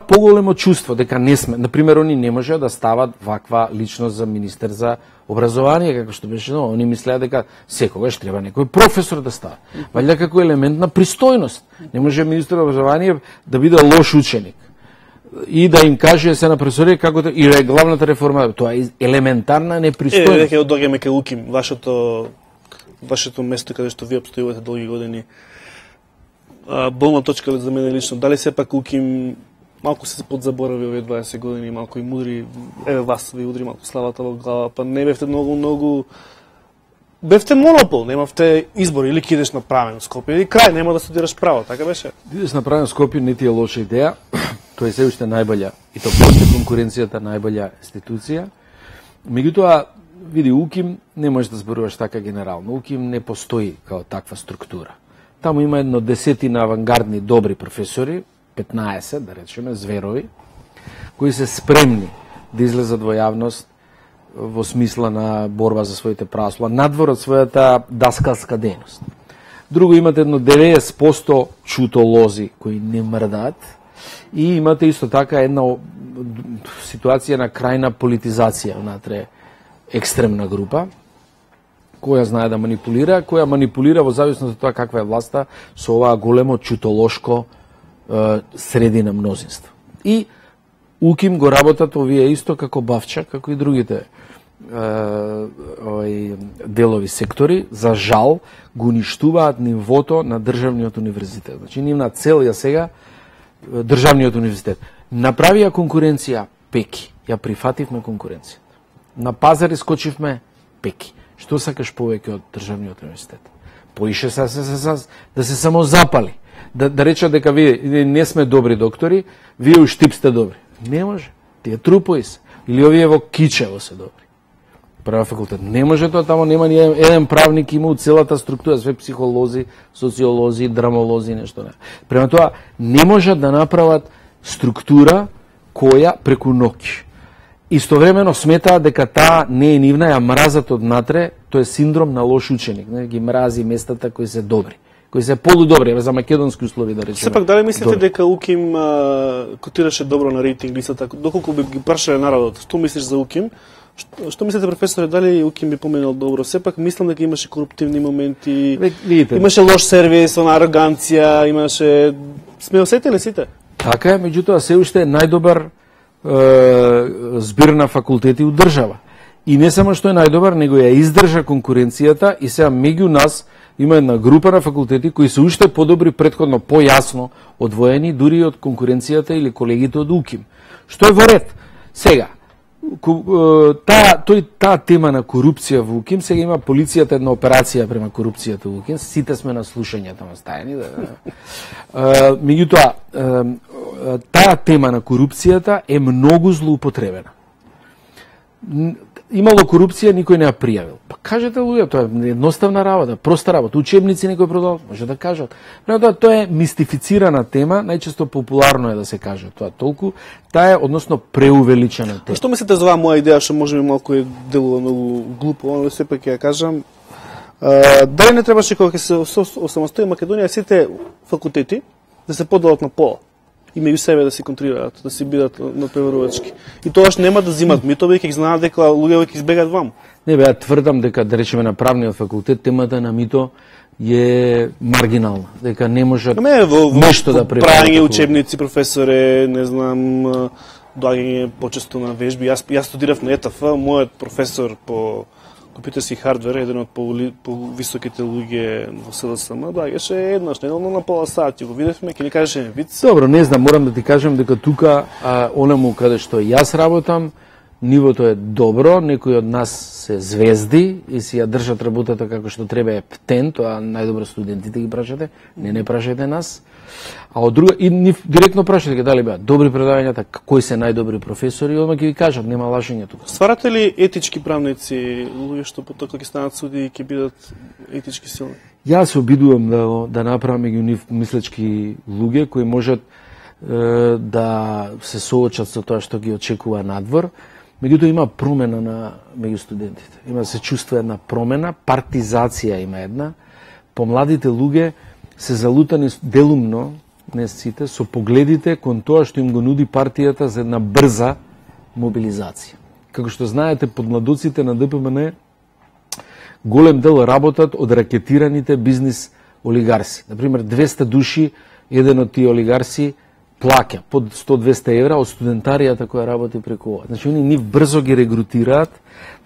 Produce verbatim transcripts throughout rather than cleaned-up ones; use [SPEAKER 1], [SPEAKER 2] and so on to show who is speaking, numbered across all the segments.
[SPEAKER 1] поголемо чувство дека не сме, на пример, они не може да стават ваква личност за министер за образование, како што беше, но они мислеа дека секогаш треба некој професор да става. Валјда како елемент на пристојност. Не може министер образование да биде лош ученик и да им каже се на професори како да, и главната реформа, тоа е елементарна непристојност.
[SPEAKER 2] Е, дека доаѓаме кај УКИМ, вашето вашето место каде што ви обстојувате долги години. А, болна точка за мене лично. Дали сепак УКИМ малку се подзаборави овие дваесет години, малку и мудри, еве вас ви удри малку славата во глава, па не бевте многу, многу... Бевте монопол, немавте избор, или кидеш на правен Скопје, или крај, нема да студираш право, така беше?
[SPEAKER 1] Кидеш на правен Скопје не ти е лоша идеја, тоа е се уште најболја, и то после конкуренцијата најболја институција. Меѓутоа, види, УКИМ не можеш да зборуваш така генерално. УКИМ не постои као таква структура. Таму има едно десетина авангардни добри професори, петнаесет, да речеме, зверови, кои се спремни да излезат во јавност во смисла на борба за своите права, надвор од својата даскалска дејност. Друго, имате едно деветдесет проценти чутолози кои не мрдаат и имате исто така една ситуација на крајна политизација внатре екстремна група, која знае да манипулира, која манипулира во зависност од тоа каква е власта со оваа големо чутолошко е, средина мнозинство. И УКИМ го работат овие исто како Бавча, како и другите е, овај, делови сектори, за жал го уништуваат нивото на државниот универзитет. Значи, нивна цел ја сега државниот универзитет. Направија конкуренција пеки, ја прифативме конкуренција. На пазар искочивме пеки. Што сакаш повеќе од државниот универзитет? Поише се, се, се, се, да се само запали. Да, да речат дека вие не сме добри доктори, вие у Штип сте добри. Не може. Тие трупои се. Или овие во Кичево се добри. Права факултет. Не може тоа, тамо нема ни еден правник, има у целата структура, све психолози, социолози, драмолози, нешто не. Према тоа, не можат да направат структура која преку ноќ. Истовремено сметаат дека таа не е нивна, ја мразат однатре, тоа е синдром на лош ученик, не ги мрази местата кои се добри, кои се полудобри, за македонски услови да речеме.
[SPEAKER 2] Сепак дали мислите добри дека УКИМ а, котираше добро на рейтинг листата, доколку би ги прашале народот? Што мислиш за УКИМ? Што, што мислите, професоре, дали УКИМ би поменал добро? Сепак мислам дека имаше коруптивни моменти,
[SPEAKER 1] Видите,
[SPEAKER 2] имаше лош сервис, она ароганција, имаше... Сме осетили сите?
[SPEAKER 1] Така е, меѓутоа се уште е најдобар збир на факултети у држава. И не само што е најдобар, него ја издржа конкуренцијата и сега меѓу нас има една група на факултети кои се уште подобри, претходно појасно одвоени дури од конкуренцијата или колегите од УКИМ. Што е во ред? Сега, таа тој таа тема на корупција во УКИМ, сега има полицијата една операција према корупцијата во УКИМ, сите сме на слушање таму стајани, да. Меѓутоа, таа тема на корупцијата е многу злоупотребена. Имало корупција, никој не ја пријавил. Па кажете луѓе, тоа е едноставна работа, проста работа. Учебници некој продал, може да кажат. Но тоа, тоа е мистифицирана тема, најчесто популарно е да се каже тоа толку. Таа е односно преувеличена тема.
[SPEAKER 2] Што мислите за оваа моја идеја, што може би малку е делува многу глупо, но сепак ќе ја кажам. А, дали не требаше кога ќе се осамостои Македонија сите факултети да се поделат на пола? И меѓу себе да се контролираат, да се бидат надпреварувачки. И тоаш нема да зимат митови, ќе ги знаат дека луѓе ќе избегаат ваму.
[SPEAKER 1] Не бе, ја тврдам дека, да речеме, на правниот факултет темата на мито е маргинална, дека не можат
[SPEAKER 2] не, во,
[SPEAKER 1] нешто
[SPEAKER 2] во,
[SPEAKER 1] да прекарат.
[SPEAKER 2] Прање учебници, професоре, не знам, доаѓање почесто на вежби. Јас јас студирав на ЕТФ, мојот професор по компјутерски хардвер, еден од по, по високите луѓе во СДСМ, доаѓаше еднаш неделно на пола сат, го видевме, ќе ни кажеше виц.
[SPEAKER 1] Добро, не знам, морам да ти кажам дека тука, а, онаму каде што јас работам, нивото е добро, некои од нас се звезди и си ја држат работата како што треба, е птен, тоа најдобро студентите ги прашате, не не прашате нас. А од друга, и нив директно прашате дали беа добри предавањата, кои се најдобри професори, одма ќе ви кажат, нема лажење тука.
[SPEAKER 2] Стварате ли етички правници, луѓе што потоа ќе станат суди и ќе бидат етички силни?
[SPEAKER 1] Јас се обидувам да да направам меѓу нив мислечки луѓе кои можат е, да се соочат со тоа што ги очекува надвор. Меѓутоа има промена на меѓу студентите. Има се чувства една промена, партизација има една. Помладите луѓе се залутани делумно не сите, со погледите кон тоа што им го нуди партијата за една брза мобилизација. Како што знаете, под младоците на Д П М Н голем дел работат од ракетираните бизнис олигарси. Например, двеста души, еден од тие олигарси плаќа под сто до двесте евра од студентаријата која работи преку ова. Значи, они нив брзо ги регрутираат,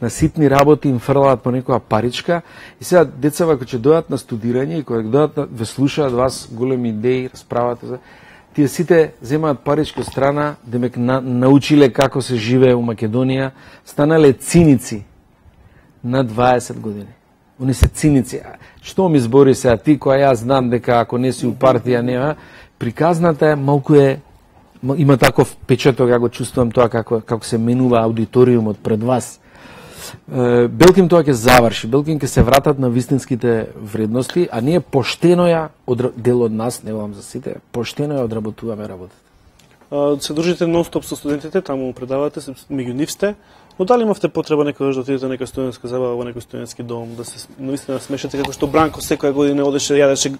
[SPEAKER 1] на ситни работи им фрлаат по некоја паричка и сега децава кои ќе дојдат на студирање и кои дојдат ве слушаат вас големи идеи, расправате за тие сите земаат паричка страна, демек на, научиле како се живее у Македонија, станале циници на дваесет години. Они се циници. Што ми збори сега ти која јас знам дека ако не си у партија нема, приказната е малку е има таков печаток, ја го чувствувам тоа како како се менува аудиториумот пред вас. Белким тоа ќе заврши, Белким ќе се вратат на вистинските вредности, а ние поштено ја од дел од нас, не велам за сите, поштено ја одработуваме работата.
[SPEAKER 2] Се дружите нон-стоп со студентите, таму предавате, меѓу нив сте, но дали имавте потреба некогаш да отидете на нека студентска забава во некој студентски дом, да се навистина смешате како што Бранко секоја година одеше јадеше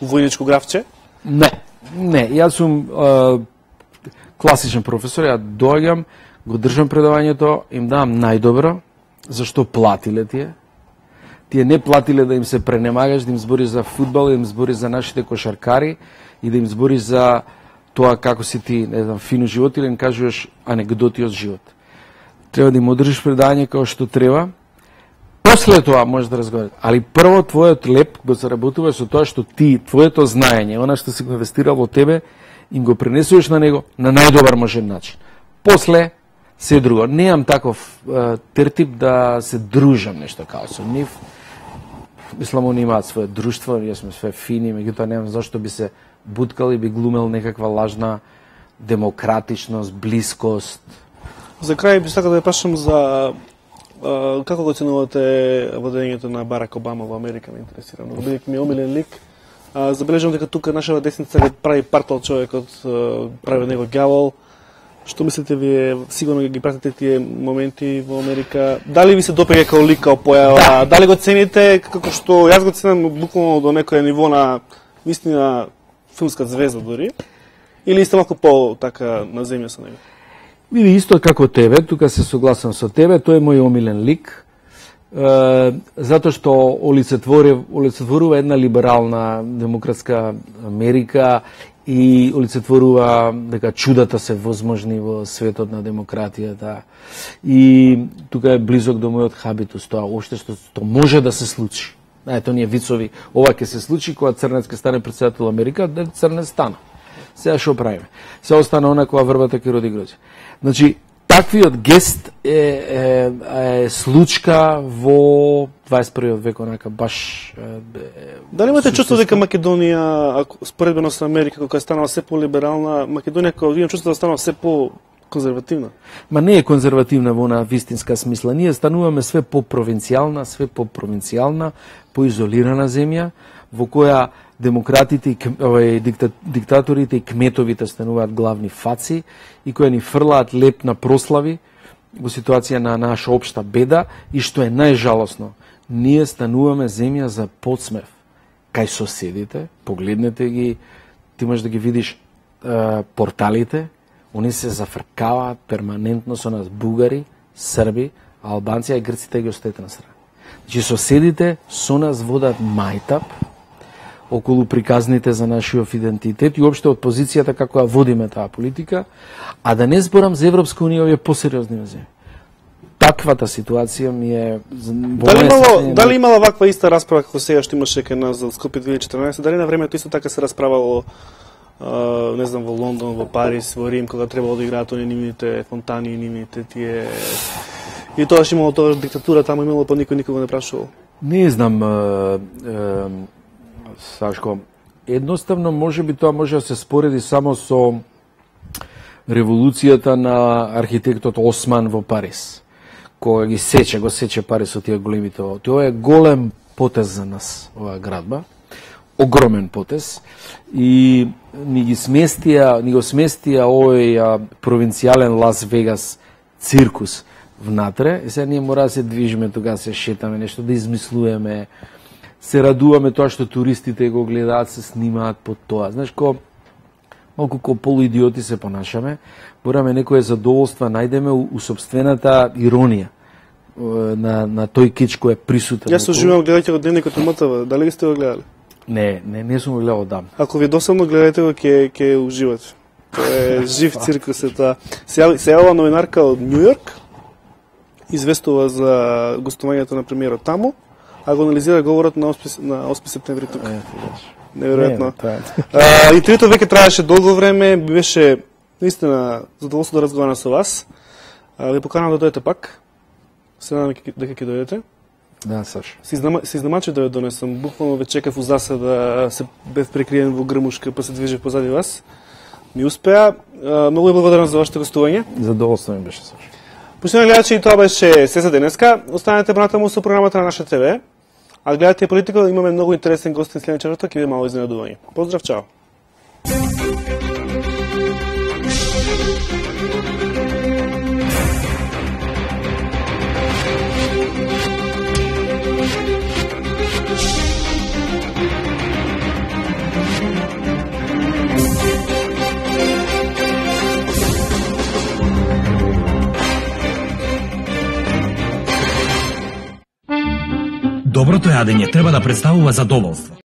[SPEAKER 2] војничко графче?
[SPEAKER 1] Не, не, јас сум а, класичен професор, ја доаѓам, го држам предавањето, им давам најдобро, зашто платиле тие. Тие не платиле да им се пренемагаш, да им збори за фудбал, да им збори за нашите кошаркари и да им збори за тоа како си ти, не знам, фино живот или им кажуваш анегдоти од живот. Треба да им одржиш предавање како што треба. После тоа можеш да разговараш, али прво твојот леп го заработуваш со тоа што ти, твоето знаење, она што си го инвестирал во тебе, им го пренесуваш на него на најдобар можен начин. После се друго. Неам таков е, тертип да се дружам нешто као со нив. Мислам, они имаат своје друштво, ние сме све фини, меѓутоа немам зашто би се буткал и би глумел некаква лажна демократичност, блискост.
[SPEAKER 2] За крај би сакал да ја прашам за а, како го оценувате водењето на Барак Обама во Америка, ме интересира. Но бидејќи ми е омилен лик, а, забележам дека тука нашава десница го прави партал човекот, прави него ѓавол. Што мислите вие, сигурно ги пратите тие моменти во Америка? Дали ви се допаѓа као лик, као појава? Да. Дали го цените како што јас го ценам буквално до некој ниво на вистина филмска звезда дори? Или сте малку по така на земја со него?
[SPEAKER 1] Види, исто како тебе, тука се согласам со тебе, тој е мој омилен лик, е, затоа што олицетворува една либерална демократска Америка и олицетворува дека чудата се возможни во светот на демократијата. И тука е близок до мојот хабитус, тоа уште што, што може да се случи. Ето ние вицови, ова ќе се случи кога Црнец ќе стане претседател Америка, да Црнец стана. Сега што правиме? Се остана она кога врбата ќе роди гроздје. Значи, таквиот гест е, е, е случка во дваесет првиот век, онака баш... Е,
[SPEAKER 2] Дали имате чувство дека Македонија, ако споредбено со Америка, кога е станала се по-либерална, Македонија, кога имам чувство да станала се по-конзервативна?
[SPEAKER 1] Ма не е конзервативна во она вистинска смисла. Ние стануваме све по-провинцијална, све по-провинцијална, по-изолирана земја, во која демократите, овај, дикта, диктаторите и кметовите стануваат главни фаци и кои ни фрлаат леп на прослави во ситуација на наша општа беда и што е најжалосно, ние стануваме земја за подсмев кај соседите, погледнете ги, ти можеш да ги видиш е, порталите, они се зафркаваат перманентно со нас бугари, срби, албанци, и грците ги остајте на страна. Значи соседите со нас водат мајтап околу приказните за нашиот идентитет и уопште од позицијата како ја водиме таа политика, а да не зборам за Европска унија, овие посериозни земји. Таквата ситуација ми е...
[SPEAKER 2] Дали имало, дали имала ваква иста расправа како сега што имаше кај нас за Скопје две илјади и четрнаесет? Дали на времето исто така се расправало, uh, не знам, во Лондон, во Париз, во Рим, кога требало да играат они нивните фонтани, нивните тие... И тогаш имало тоа диктатура, таму имало, па никој никога не прашувал?
[SPEAKER 1] Не знам, uh, uh, Сашко, едноставно може би тоа може да се спореди само со револуцијата на архитектот Осман во Париз, кој ги сече, го сече Париз со тие големите. Тоа е голем потез за нас, оваа градба, огромен потез, и ни ги сместија, ни го сместија овој провинцијален Лас Вегас циркус внатре, и сега ние мора да се движиме, тога се шетаме, нешто да измислуваме, се радуваме тоа што туристите го гледаат, се снимаат под тоа. Знаеш, ко малку ко полуидиоти се понашаме, мораме некое задоволство најдеме у, у собствената иронија на, на тој кич кој е присутен.
[SPEAKER 2] Јас уживам гледајќи го Дневникот на МТВ, дали ги сте го гледали?
[SPEAKER 1] Не, не, не сум го гледал дам.
[SPEAKER 2] Ако ви досадно гледајте го, ќе ќе уживате. Тоа е жив циркус е тоа. Се јавила новинарка од Њу Јорк, известува за гостувањето на премиерот таму, а го анализира говорот на осми септември тук. Неверојатно. Интервјуто веќе траеше долго време, беше наистина задоволство да разговарам со вас. Ви поканам да дојдете пак. Се надам дека ќе дојдете.
[SPEAKER 1] Да, Саш.
[SPEAKER 2] Се изнамачив да ве донесам. Буквално ве чекав у засада да се бев прекриен во грмушка, па се движи позади вас. Ми успеа. Многу ви благодарам за вашето гостување.
[SPEAKER 1] Задоволство ми беше, Саш.
[SPEAKER 2] Почитувани гледачи, и тоа беше се за денеска. Останете понатаму со програмата на Наша ТВ. А гледате политика, имаме многу интересен гостин следен четврток и ви мало изненадување. Поздрав, чао!
[SPEAKER 3] Доброто јадење треба да представува задоволство.